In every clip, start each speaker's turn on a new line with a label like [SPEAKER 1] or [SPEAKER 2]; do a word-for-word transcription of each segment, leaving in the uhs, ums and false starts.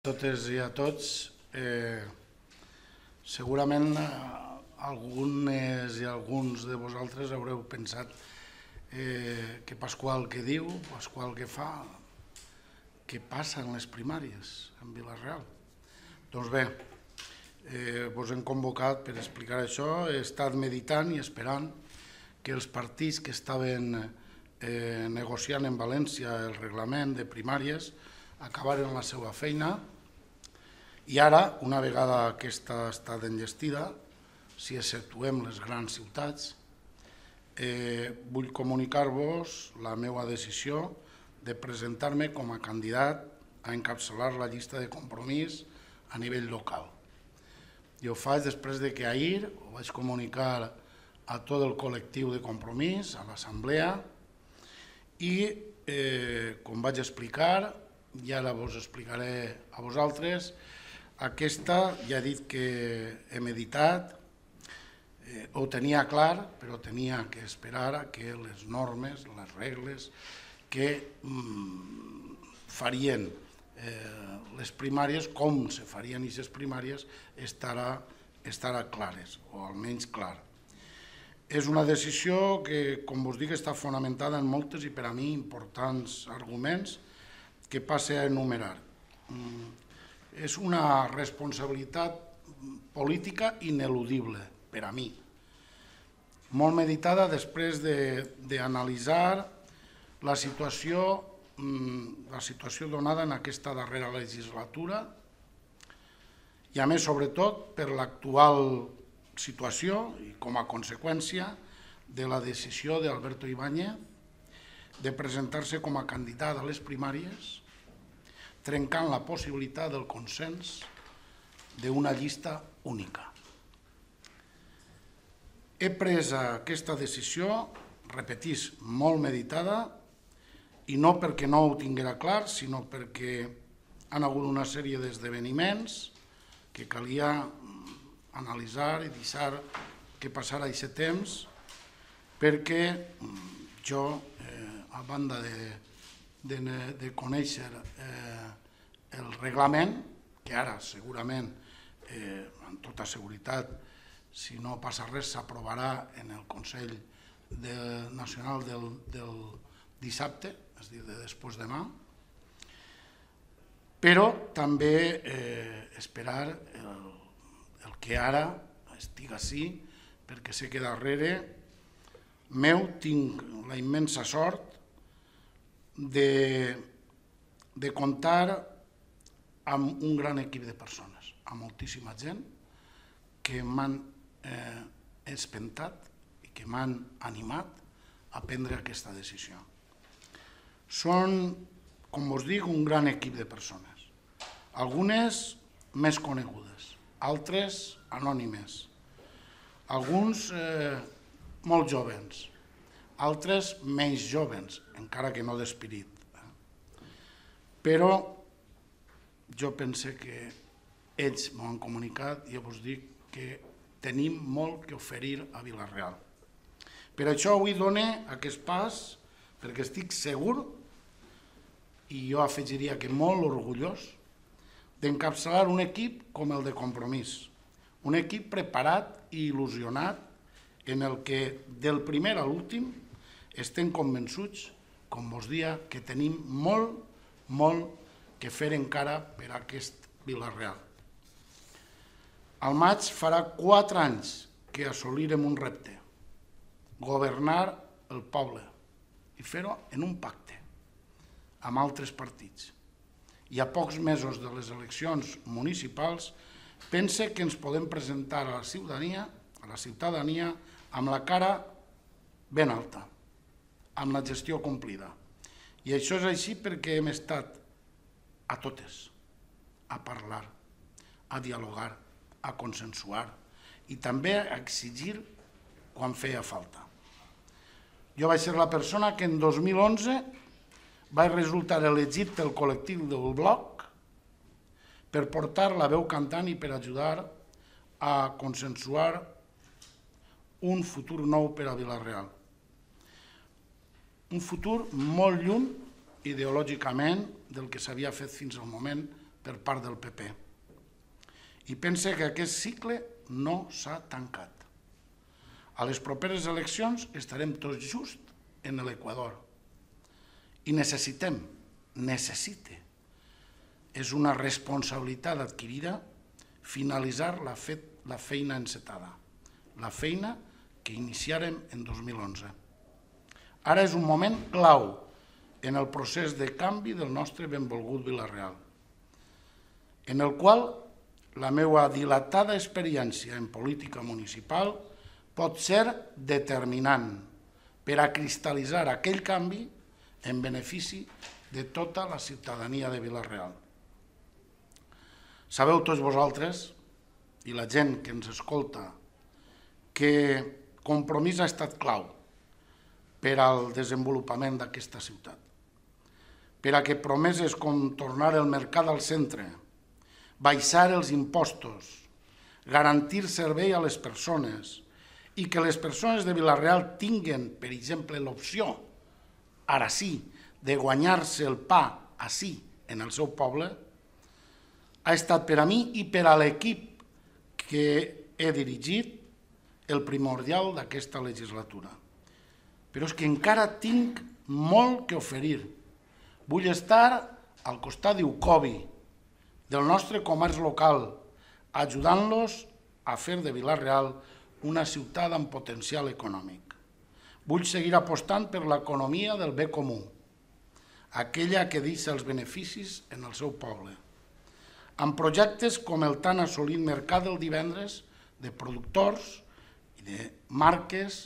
[SPEAKER 1] totes i a tots. Segurament algunes i alguns de vosaltres haureu pensat que Pasqual què diu, Pasqual què fa, què passa en les primàries en Vila-real. Doncs bé, vos hem convocat per explicar això. He estat meditant i esperant que els partits que estaven negociant en València el reglament de primàries acabaren la seva feina i ara, una vegada aquesta ha estat enllestida, si exceptuem les grans ciutats, vull comunicar-vos la meva decisió de presentar-me com a candidat a encapçalar la llista de Compromís a nivell local. I ho faig després de que ahir ho vaig comunicar a tot el col·lectiu de Compromís, a l'assemblea, i com vaig explicar, i ara vos explicaré a vosaltres, aquesta ja he dit que he meditat, ho tenia clar, però tenia que esperar a que les normes, les regles que farien les primàries, com se farien aquestes primàries, estarà clares, o almenys clar. És una decisió que, com vos dic, està fonamentada en moltes i per a mi importants arguments que passe a enumerar. És una responsabilitat política ineludible per a mi, molt meditada després d'analitzar la situació la situació donada en aquesta darrera legislatura i, a més, sobretot, per l'actual situació i com a conseqüència de la decisió d'Alberto Ibáñez de presentar-se com a candidat a les primàries, trencant la possibilitat del consens d'una llista única. He pres aquesta decisió, repetís, molt meditada, i no perquè no ho tinguera clar, sinó perquè han hagut una sèrie d'esdeveniments que calia analitzar i deixar que passara aquest temps, perquè jo, a banda de conèixer el reglament, que ara segurament, amb tota seguretat, si no passa res, s'aprovarà en el Consell Nacional del dissabte, és a dir, de després demà, però també esperar el que ara estic ací, perquè sé que darrere meu tinc la immensa sort de comptar amb un gran equip de persones, amb moltíssima gent que m'han espentat i que m'han animat a prendre aquesta decisió. Són, com us dic, un gran equip de persones, algunes més conegudes, altres anònimes, alguns molt jovens, altres menys jovens, encara que no d'espirit. Però jo pense que ells m'ho han comunicat i jo vos dic que tenim molt que oferir a Vila-real. Per això avui dono aquest pas, perquè estic segur, i jo afegiria que molt orgullós, d'encapçalar un equip com el de Compromís, un equip preparat i il·lusionat en el que del primer a l'últim estem convençuts, com vos dia, que tenim molt, molt que fer encara per a aquest Vila-real. Al maig farà quatre anys que assolirem un repte, governar el poble i fer-ho en un pacte amb altres partits. I a pocs mesos de les eleccions municipals pense que ens podem presentar a la ciutadania, a la ciutadania amb la cara ben alta, amb la gestió complida. I això és així perquè hem estat a totes, a parlar, a dialogar, a consensuar i també a exigir quan feia falta. Jo vaig ser la persona que en dos mil onze vaig resultar elegit pel col·lectiu del bloc per portar la veu cantant i per ajudar a consensuar un futur nou per a Vila-real. Un futur molt lluny ideològicament del que s'havia fet fins al moment per part del P P. I pense que aquest cicle no s'ha tancat. A les properes eleccions estarem tots just en l'Equador. I necessitem, necessite, és una responsabilitat adquirida finalitzar la, fet, la feina encetada, la feina que iniciarem en dos mil onze. Ara és un moment clau en el procés de canvi del nostre benvolgut Vila-real, en el qual la meva dilatada experiència en política municipal pot ser determinant per a cristal·litzar aquell canvi en benefici de tota la ciutadania de Vila-real. Sabeu tots vosaltres, i la gent que ens escolta, que Compromís ha estat clau per al desenvolupament d'aquesta ciutat, per a que promeses com tornar el mercat al centre, baixar els impostos, garantir servei a les persones i que les persones de Vila-real tinguen, per exemple, l'opció, ara sí, de guanyar-se el pa ací, en el seu poble, ha estat per a mi i per a l'equip que he dirigit el primordial d'aquesta legislatura. Però és que encara tinc molt que oferir. Vull estar al costat d'Ucobi, del nostre comerç local, ajudant-los a fer de Vila-real una ciutat amb potencial econòmic. Vull seguir apostant per l'economia del bé comú, aquella que deixa els beneficis en el seu poble, amb projectes com el tan assolit Mercat del Divendres de productors i de marques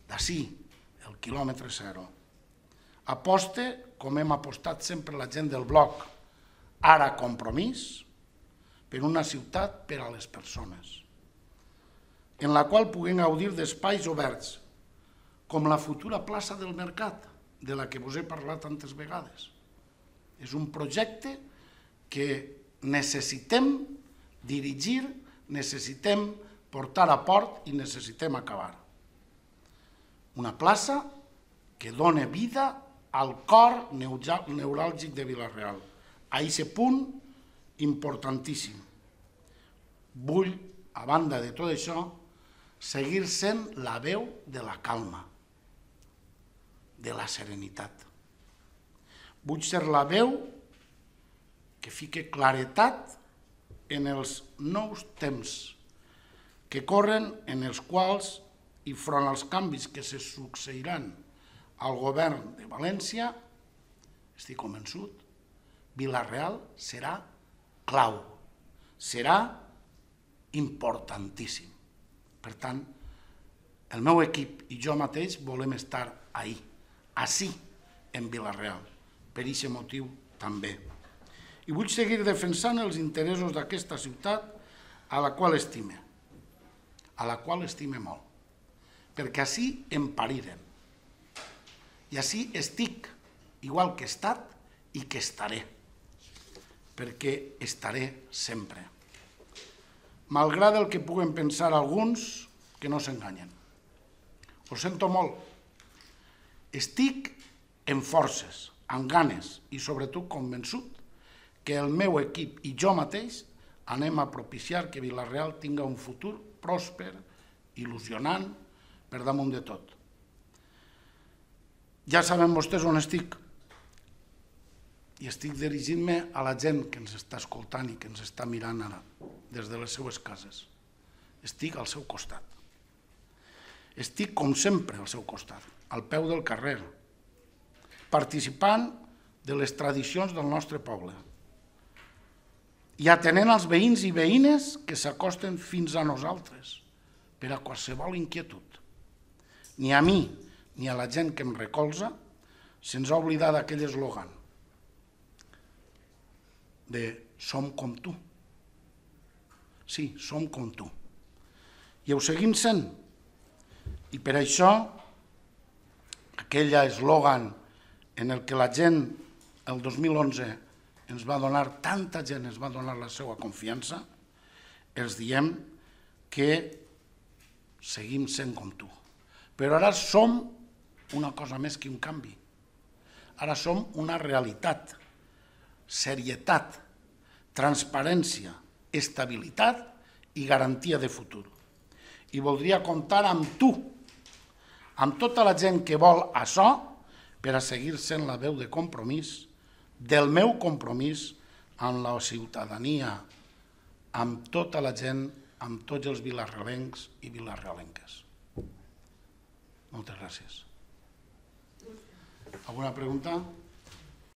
[SPEAKER 1] d'ací, el quilòmetre zero. Aposte, com hem apostat sempre la gent del bloc, ara Compromís, per una ciutat per a les persones, en la qual puguem gaudir d'espais oberts, com la futura plaça del Mercat, de la que us he parlat tantes vegades. És un projecte que necessitem dirigir, necessitem portar a port i necessitem acabar. Una plaça que dona vida al cor neuràlgic de Vila-real, a aquest punt importantíssim. Vull, a banda de tot això, seguir sent la veu de la calma, de la serenitat. Vull ser la veu que fique claretat en els nous temps que corren, en els quals, i front als canvis que se succeiran al govern de València, estic convençut, Vila-real serà clau, serà importantíssim. Per tant, el meu equip i jo mateix volem estar ahí, ací, en Vila-real, per aquest motiu també. I vull seguir defensant els interessos d'aquesta ciutat a la qual estime, a la qual estime molt, perquè ací em pariren. I ací estic, igual que he estat i que estaré, perquè estaré sempre. Malgrat el que puguen pensar alguns, que no s'enganyen. Ho sento molt. Estic en forces, amb ganes i sobretot convençut que el meu equip i jo mateix anem a propiciar que Vila-real tinga un futur pròsper, il·lusionant, per damunt de tot. Ja saben vostès on estic. I estic dirigint-me a la gent que ens està escoltant i que ens està mirant ara, des de les seues cases. Estic al seu costat. Estic, com sempre, al seu costat, al peu del carrer, participant de les tradicions del nostre poble i atenent els veïns i veïnes que s'acosten fins a nosaltres per a qualsevol inquietud. Ni a mi ni a la gent que em recolza se'ns ha oblidat aquell eslògan de som com tu. Sí, som com tu. I ho seguim sent. I per això, aquell eslògan en el que la gent, el dos mil onze, ens va donar, tanta gent ens va donar la seva confiança, els diem que seguim sent com tu. Però ara som una cosa més que un canvi. Ara som una realitat, serietat, transparència, estabilitat i garantia de futur. I voldria comptar amb tu, amb tota la gent que vol això, per a seguir sent la veu de compromís, del meu compromís amb la ciutadania, amb tota la gent, amb tots els vilarrealencs i vilarrealenques. Moltes gràcies. Alguna pregunta?